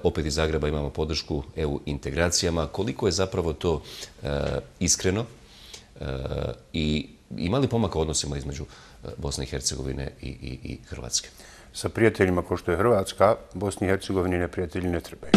Opet iz Zagreba imamo podršku EU integracijama. Koliko je zapravo to iskreno i ima li pomaka u odnosima između Bosne i Hercegovine i Hrvatske? Sa prijateljima kao što je Hrvatska, Bosni i Hercegovini neprijatelji ne trebaju.